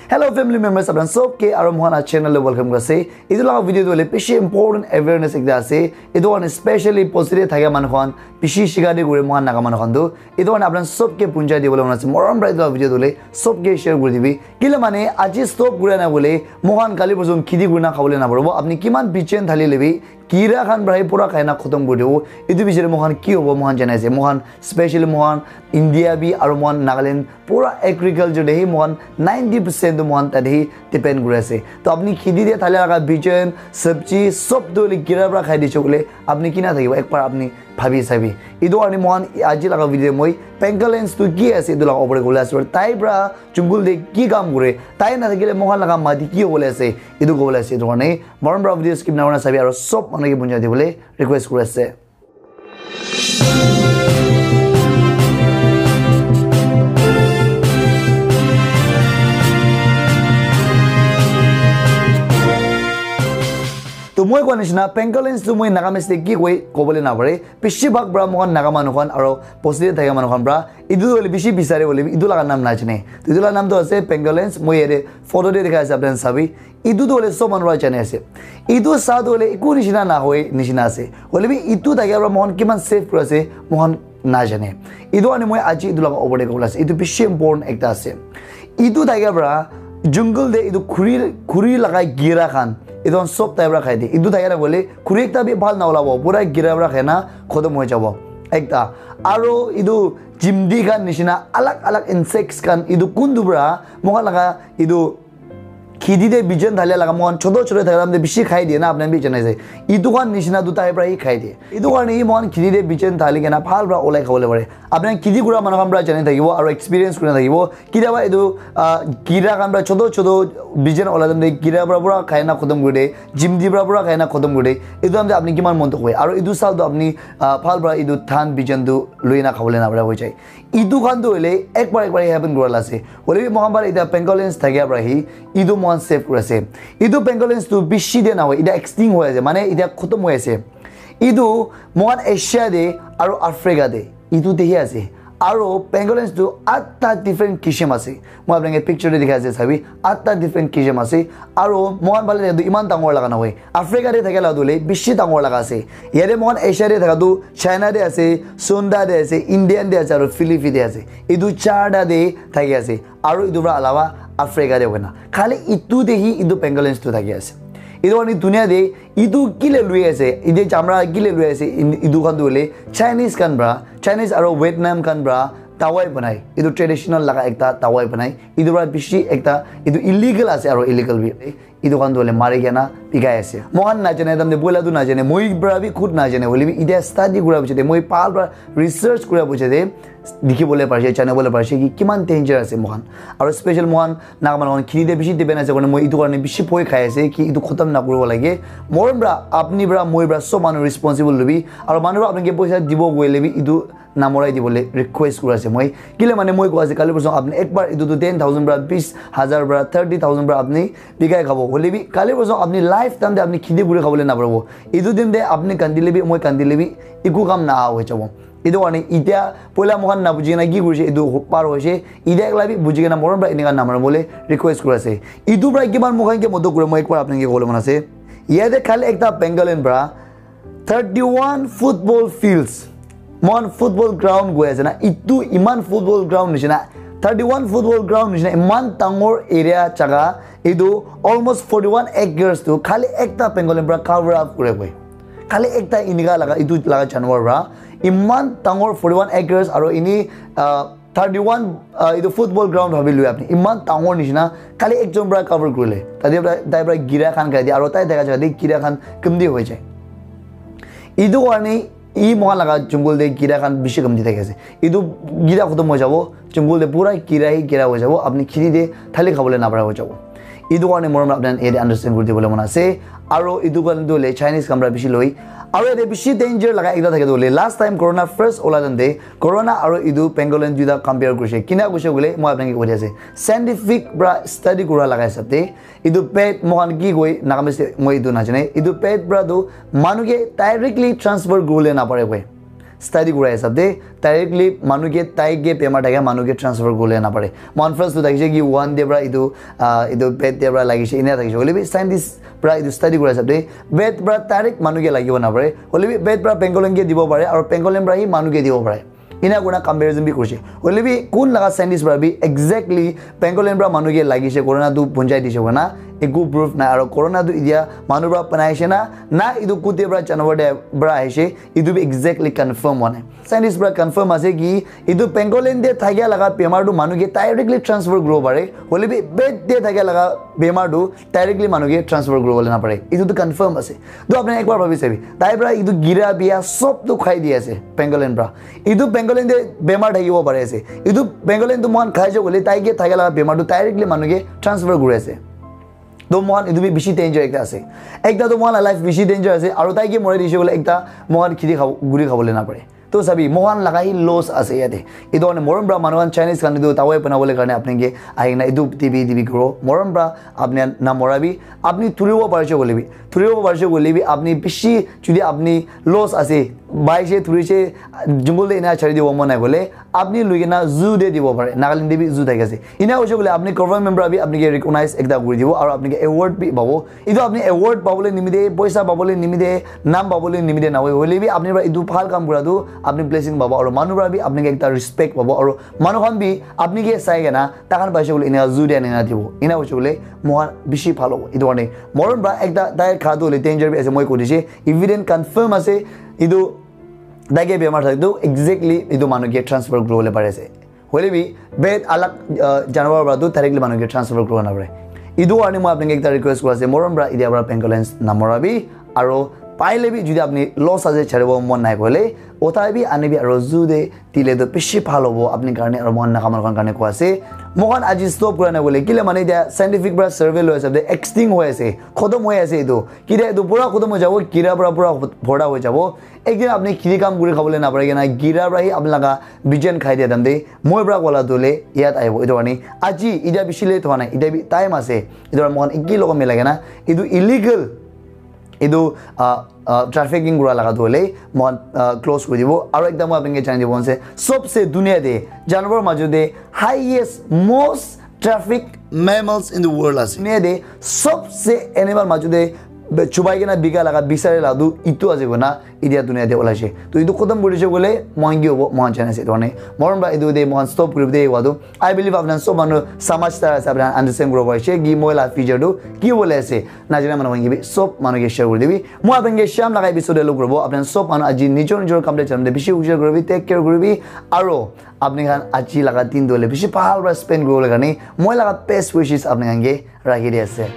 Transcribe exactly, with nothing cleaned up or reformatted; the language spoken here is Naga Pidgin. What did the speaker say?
Hello family members, apna sob ke aro mohan la channel le welcome kuri ase. Etu laga video tu hoile bishi important awareness ekta ase. Etu karne specially positive thakia manu khan bishi shika de kure mohan Naga manu khan tu. Etu karne apna sob ke punjai dibole mon ase. Morom para etu laga video tu hoile sob ke share kuri dibi. Kile mane aji stop kura na bole mohan kali porsu khiti kuri na khabole na paribo. Apni kiman bijen thali lebi kira khan para hi pura khai na khotom kuri dibo. Etu bichare mohan ki hobo mohan janai ase. Mohan specially mohan India bi aro mohan Nagaland pura agriculture de hi mohan ninety percent tu mohan tate hi depend kuri ase. To apni khiti de thali laga bijen, sabji sob tu hoile kira para khai diche koile apni kina thakibo, ek bar apni bhabi sabi. Etu karne mohan aji laga video moi pangolins tu ki ase etu laga opor te kobole ase. Tai para jungle de ki kam kure, tai na thakile mohan laga mati ki hobole ase, etu kobole ase. Etu karne morom para video skip na kurna sabi aro sob manu ke punjai dibole request kuri ase. To moi koa nishina pangolins tu moi Nagamese te ki koi kobole na pare. Bishi bhag para moikhan Naga manu khan aro positive thakia manu khan para etu tu hoile bishi bisare hoile bi etu laga naam najane. To etu laga naam tu ase pangolins. Moi yate photo te dikha ase, apni khan sabi. Etu tu hoile sob manu para jani ase. Etu sa tu hoile eku nishina na hoi nishina ase. Hoile bi etu thakia para moikhan kiman safe kuri ase moikhan najane. Etu karne moi aji etu laga opor te kobole ase. Etu bishi important ekta ase. Etu thakia para jungle te etu khuri, khuri laga gira khan etu khan sob tai para khai de. Etu thakia para hoile khuri ekta bi bhal na olabo, pura gira para khai na khotom hoi jabo. Ekta. Aro etu chimdi khan nishina alag alag insects khan etu kuntu para moikhan laga etu khiti te bijen thali laga moikhan choto choto thaka time te bishi khai diye na, apni khan bi janai ase. Etu khan nishina tu tai para hi khai diye. Etu karne hi moikhan khiti te bijen thali kena bhal para olai khabole pare. Apni khan khiti kura manu khan para jani thakibo aro experience kuri na thakibo. Kitiaba etu, ah, kira khan para choto choto bijen olai time te kira para pura khai na khotom kuri de, chimdi para pura khai na khotom kuri de. Etu time te apni kiman mon dukh hoy? Aro etu saal tu apni, ah, bhal para etu dhan bijen tu lui na khabole na para hoi jai. Etu khan tu hoile ek bar ek bar happen kura la ase. Hoile bi moikhan para eta pangolins thakia para hi etu moikhan save kuri ase. Etu pangolins tu bishi de na hoi, eta extinct hoi ase, mane eta khotom hoi ase. Etu moikhan Asia de aro Africa de etu de hi ase. Aro pangolins tu atta different kisim ase. Moi apni khan ke picture de dikha ase sabi, atta different kisim ase. Aro moikhan phale de tu iman dangor laga na hoi. Africa de thakia la tu hoile bishi dangor laga ase. Yate moikhan Asia de thaka tu China de ase, Sunda de ase, Indian de ase, aro Philippine de ase. Etu charta de thaki ase. Aro etu para alawa Africa de hoina. Khali etu de hi etu pangolins tu thaki ase. Etu karne dunia de etu kile lui ase, etu chamra kile lui ase, in-, etu khan tu hoile Chinese khan para, Chinese aro Vietnam khan para dawai banai. Etu traditional laga ekta dawai banai. Etu para bishi ekta, etu illegal ase aro illegal bi. Etu khan tu hoile mari kena bikai ase. Moikhan najane, tamde boila tu najane, moi para bi khud najane, hoile bi etia study kura pichete, moi bhal para research kura pichete dikhi bole parise, jani bole parise ki kiman danger ase moikhan. Aro special moikhan Naga manu khan khiti te bishi depend ase karne moi etu karne bishi bhoi khai ase ki etu khotom na kuribo lage. Morom para, apni para, moi para, sob manu responsible lobi. Aro manu para apni ke poisa dibo goile bi etu namorai dibole request kuri ase moi. Kile mane moi koi ase, kali porsu apni ek bar etu tu ten thousand para, bis hazar para, thirty thousand para apni bikai khabo. Hoile bi kali porsu apni lifetime te apni khiti kuri khabole naparibo. Etu din te apni kandile bi, moi kandile bi, eku kam na hoi jabo. Etu karne etia poila moikhan na buji kena ki kurise, etu par hoise. Etia ekla bi buji kena morom para enika namar bole request kuri ase. Etu para kiman moikhan ke modot kure, moi ek bar apni ke kobole mon ase. Yate khali ekta pangolin para thirty-one football fields. Moikhan football ground goi ase na, etu iman football ground nishina, thirty-one football ground nishina, iman dangor area jaga, etu almost forty-one acres tu khali ekta pangolin para cover up kure koi. Khali ekta enika laga, etu laga janwar para iman dangor forty-one acres aro ini, ah, thirty-one, ah, etu football ground bhabi lui apni. Iman dangor nishina, khali ekjon para cover kurile. Tate para, tai para gira khan khai di, aro tai thaka jaga te gira khan kumdi hoi jai. Etu karne, e moikhan laga jungle te gira khan bishi kumdi thaki ase. Etu gira khotom hoi jabo, jungle te pura gira hi gira hoi jabo, apni khiti te thali khabole napara hoi jabo. Etu karne morom apni khan yate understand kuri dibole mon ase. Aro etu karne tu hoile Chinese khan para bishi loi. Aro yate bishi danger laga ekta thake tu hoile, last time corona first ola time te, corona aro etu pangolin duita compare kurise. Kina kurise koile, moi apni ke koi di ase. Scientific para study kura laga hisab te, etu pet moikhan ki koi, Nagamese te moi etu najane. Etu pet para tu manu ke directly transfer kuribole napare koi. Study kura hisab te directly manu ke tai ke bemar thaka manu ke transfer kule na pare. Mohan first tu thakise ki Wuhan te pra itu ah, itu bat te pra lagise ena thakise. Hoile bi scientist pra itu study kura hisab te bat pra direct manu ke lagibo na pare. Hoile bi bat pra pangolin ke dibo pare aru pangolin pra hi manu ke dibo pare. Ena kurina comparison bi kurise. Hoile bi kun laga scientist pra bi exactly pangolin pra manu ke lagise corona tu punjai dise koina eku proof nai. Aru corona tu itia manu pra banaise na na itu kute pra janwar te pra ahise itu bi exactly confirm hua nai. Scientist pra confirm ase ki itu pangolin te thakia laga bemar tu manu ke directly transfer kuribo pare. Hoile bi bat te thakia laga bemar tu directly manu ke transfer kuribo le na pare. Itu tu confirm ase. To apni ekbar bhabi sabi. Tai pra itu gira bia sob tu khai di ase pangolin pra. Itu pangolin te bemar thakibo pare ase. Itu pangolin tu mohan khai jo gole tai ke thakia laga bemar tu directly manu ke transfer kuri ase. To mohan itu bi bishi danger ekta ase. Ekta to mohan la life bishi danger ase. Aru tai ke morai dise gole ekta mohan khiti khabo, guri khabo le na pare. To sabi, mohan laga hi loss ase yate. Itu karne morom pra manu khan Chinese khan itu dawai banabole karne apni ke ahina itu T B T B kuro. Morom pra apni na morabi, apni thuribo parise koile bi. Thuribo parise koile bi apni bishi jodi apni loss ase. Baise thurise jungle te ena chari dibo mon nai koile apni lui kena zoo te dibo pare. Nagaland te bi zoo thaki ase. Ena hoise koile apni government pra bi apni ke recognize ekta kuri dibo aru apni ke award bi pabo. Itu apni award pabole nimite, poisa pabole nimite, nam pabole nimite nahoi. Hoile bi apni pra itu bhal kam kura tu apni blessing pabo aru manu pra bi apni ke ekta respect pabo aru manu khan bi apni ke sai kena takhan paise koile ena zoo te anina dibo. Ena hoise koile mohan bishi bhal hobo. Itu karne morom pra ekta tai kha tu hoile danger bi ase moi koi dise. Evident confirm ase itu tai ke bemar thak tu exactly itu manu ke transfer kuribole pari ase. Hoile bi bat alag uh, janwar pra tu directly manu ke transfer kuribo na pare. Itu karne moi apni ke ekta request kuri ase morom pra itia pra pangolins na morabi aru paile bi jodi apni loss ase charibo mon nai koile uthai bi ani bi aru zoo te dile to bishi bhal hobo apni karne aru mohan naga manu khan karne koi ase. Mohan aji stop kura na koile kile mane itia scientific pra survey loi ase de extinct hoi ase, khotom hoi ase itu. Kile itu pura khotom hoi jabo, kira pra pura bhorta hoi jabo. Ekdin apni khiti kam kuri khabole na pare kena gira pra hi apni laga bijan khai dia dam de moi pra kola dole yat aibo. Itu karne aji itia bishi late hua nai, itia bi time ase. Itu karne mohan eki logo milai kena itu illegal itu uh, uh, trafficking kura laga tu hoile mohan uh, close kuri dibo aru ekta moi apni ke janai dibo ase sobse dunia te janwar majo te highest most traffic mammals in the world ase. Dunia te sobse animal majo te chubai kena bika laga bisari laga tu itu ase kona itia dunia te olaise. To itu khotom kuri dise koile mohan ki hobo mohan jane ase. Itu karne morom pra itu te mohan stop kuri de wadu. I believe apni sob manu samajhdar ase, apni understand kuri parise ki moi la future tu ki bole ase. Najana manu khan ke bi sob manu ke share kuri dibi. Moi apni ke sham laga episode te log kuri bo. Apni sob manu aji nijor nijor kam te jam de bishi hushar kuri bi, take care kuri bi. Aro apni khan aji laga din tu le bishi bhal pra spend kuri bole karne moi laga best wishes apni khan ke rakhi di ase.